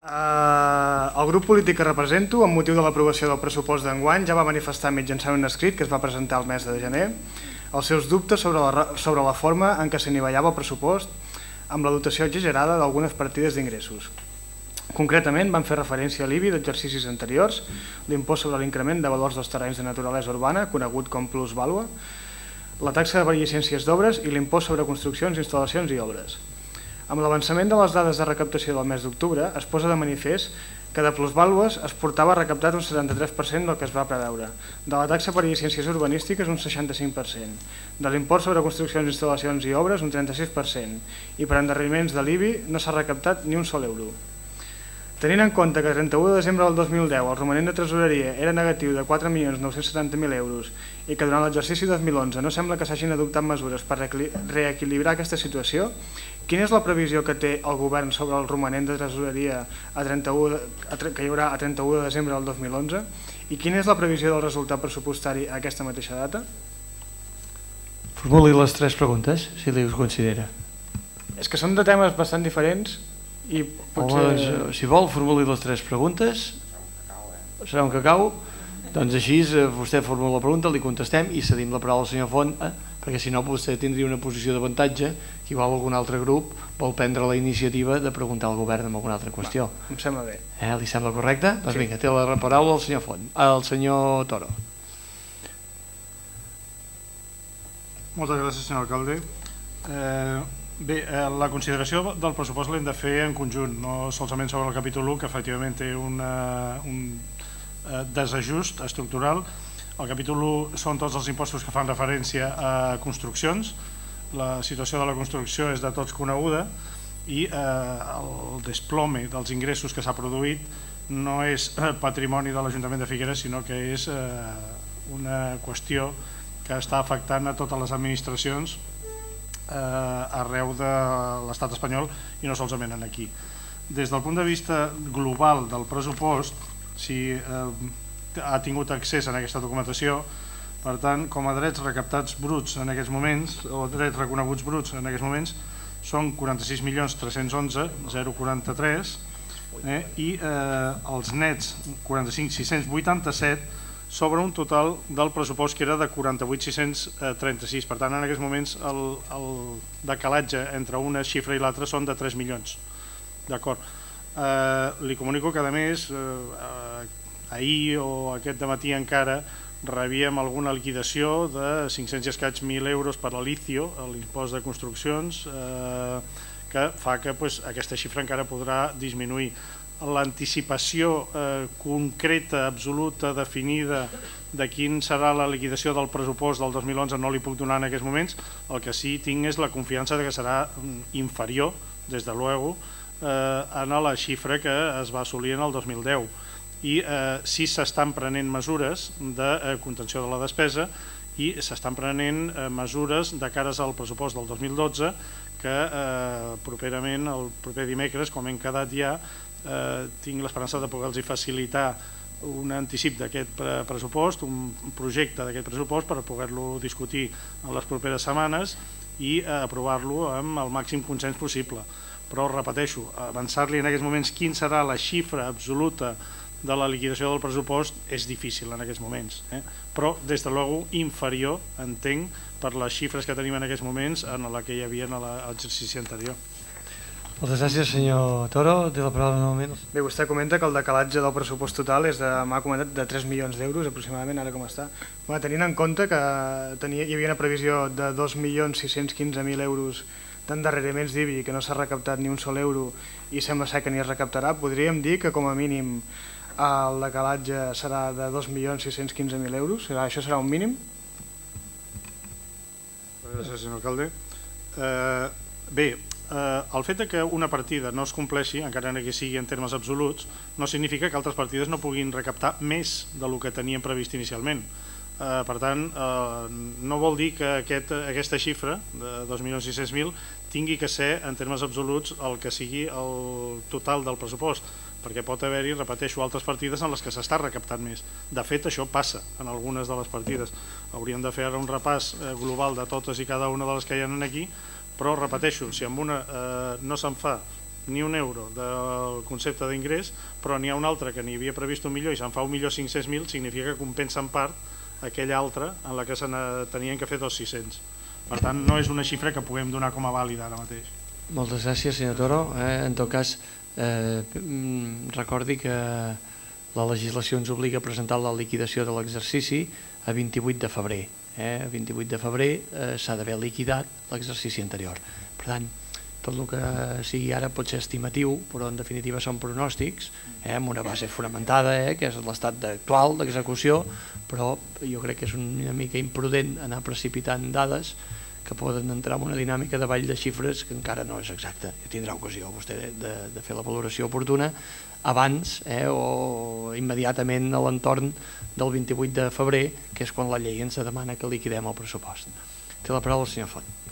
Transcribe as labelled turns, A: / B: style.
A: El grup polític que represento, amb motiu de l'aprovació del pressupost d'enguany, ja va manifestar mitjançant un escrit que es va presentar el mes de gener els seus dubtes sobre la forma en què s'anivellava el pressupost amb la dotació exagerada d'algunes partides d'ingressos. Concretament, van fer referència a l'IBI d'exercicis anteriors, l'impost sobre l'increment de valors dels terrenys de naturalesa urbana, conegut com plusvàlua, la taxa de beneficències d'obres i l'impost sobre construccions, instal·lacions i obres. Amb l'avançament de les dades de recaptació del mes d'octubre, es posa de manifest que de plusvàlues es portava recaptat un 73% del que es va preveure, de la taxa per llicències urbanístiques un 65%, de l'impost sobre construccions, instal·lacions i obres un 36% i per endarreriments de l'IBI no s'ha recaptat ni un sol euro. Tenint en compte que el 31 de desembre del 2010 el romanent de tresoreria era negatiu de 4.970.000 euros i que durant l'exercici 2011 no sembla que s'hagin adoptat mesures per reequilibrar aquesta situació, quina és la previsió que té el govern sobre el romanent de tresoreria que hi haurà a 31 de desembre del 2011 i quina és la previsió del resultat pressupostari a aquesta mateixa data?
B: Formuli les tres preguntes, si li ho considera.
A: És que són de temes bastant diferents i potser...
B: Si vol, formuli les tres preguntes. Serà un cacau. Doncs així vostè formula la pregunta, li contestem i cedim la paraula al senyor Font, perquè si no vostè tindria una posició d'avantatge que igual algun altre grup vol prendre la iniciativa de preguntar al govern en alguna altra qüestió.
A: Em sembla bé.
B: Li sembla correcte? Doncs vinga, té la paraula el senyor Font, el senyor Toro.
C: Moltes gràcies, senyor alcalde. Bé, la consideració del pressupost l'hem de fer en conjunt, no solament sobre el capítol 1, que efectivament té un desajust estructural. El capítol 1 són tots els impostos que fan referència a construccions. La situació de la construcció és de tots coneguda i el desplome dels ingressos que s'ha produït no és patrimoni de l'Ajuntament de Figueres, sinó que és una qüestió que està afectant a totes les administracions arreu de l'estat espanyol i no solament aquí. Des del punt de vista global del pressupost, si ha tingut accés a aquesta documentació, per tant, com a drets recaptats bruts en aquests moments, o drets reconeguts bruts en aquests moments, són 46.311.043 i els nets 45.687 sobre un total del pressupost que era de 48.636. Per tant, en aquests moments el decalatge entre una xifra i l'altra són de 3 milions. D'acord. Li comunico que, a més, ahir o aquest dematí encara rebíem alguna liquidació de 500 i escaig 1.000 euros per l'Alicio, l'impost de construccions, que fa que aquesta xifra encara podrà disminuir. L'anticipació concreta, absoluta, definida de quin serà la liquidació del pressupost del 2011 no li puc donar en aquests moments. El que sí tinc és la confiança que serà inferior, des de luego, a la xifra que es va assolir en el 2010. I sí s'estan prenent mesures de contenció de la despesa i s'estan prenent mesures de cares al pressupost del 2012 que properament, el proper dimecres, com hem quedat ja, tinc l'esperança de poder-los facilitar un anticip d'aquest pressupost, un projecte d'aquest pressupost per poder-lo discutir en les properes setmanes i aprovar-lo amb el màxim consens possible. Però, repeteixo, avançar-li en aquests moments quin serà la xifra absoluta de la liquidació del pressupost és difícil en aquests moments, però des de luego inferior, entenc, per les xifres que tenim en aquests moments en la que hi havia en l'exercici anterior.
B: Moltes gràcies, senyor Toro. Té la paraula novament.
A: Bé, vostè comenta que el decalatge del pressupost total és m'ha comentat de 3 milions d'euros aproximadament, ara com està. Tenint en compte que hi havia una previsió de 2.615.000 euros d'endarreriments d'IBI que no s'ha recaptat ni un sol euro i sembla ser que ni es recaptarà, podríem dir que com a mínim el decalatge serà de 2.615.000 euros? Això serà un mínim?
C: Gràcies, senyor alcalde. Bé, el fet que una partida no es compleixi, encara que sigui en termes absoluts, no significa que altres partides no puguin recaptar més del que tenien previst inicialment. Per tant, no vol dir que aquesta xifra de 2.600.000 tingui que ser en termes absoluts el que sigui el total del pressupost, perquè pot haver-hi, repeteixo, altres partides en les que s'està recaptant més. De fet, això passa en algunes de les partides. Hauríem de fer ara un repàs global de totes i cada una de les que hi ha aquí, però repeteixo, si amb una no se'n fa ni un euro del concepte d'ingrés, però n'hi ha un altre que n'hi havia previst 1 milió i se'n fa 1.500.000, significa que compensa en part aquella altra en la que se tenien que fer 2.600.000. Per tant, no és una xifra que puguem donar com a vàlida ara mateix.
B: Moltes gràcies, senyor Toro. En tot cas, recordi que la legislació ens obliga a presentar la liquidació de l'exercici a 28 de febrer. A 28 de febrer s'ha d'haver liquidat l'exercici anterior. Per tant, tot el que sigui ara pot ser estimatiu, però en definitiva són pronòstics, amb una base fonamentada, que és l'estat actual d'execució, però jo crec que és una mica imprudent anar precipitant dades que poden entrar en una dinàmica de ball de xifres que encara no és exacta. Tindrà ocasió vostè de fer la valoració oportuna abans o immediatament a l'entorn del 28 de febrer, que és quan la llei ens demana que liquidem el pressupost. Té la paraula el senyor Font.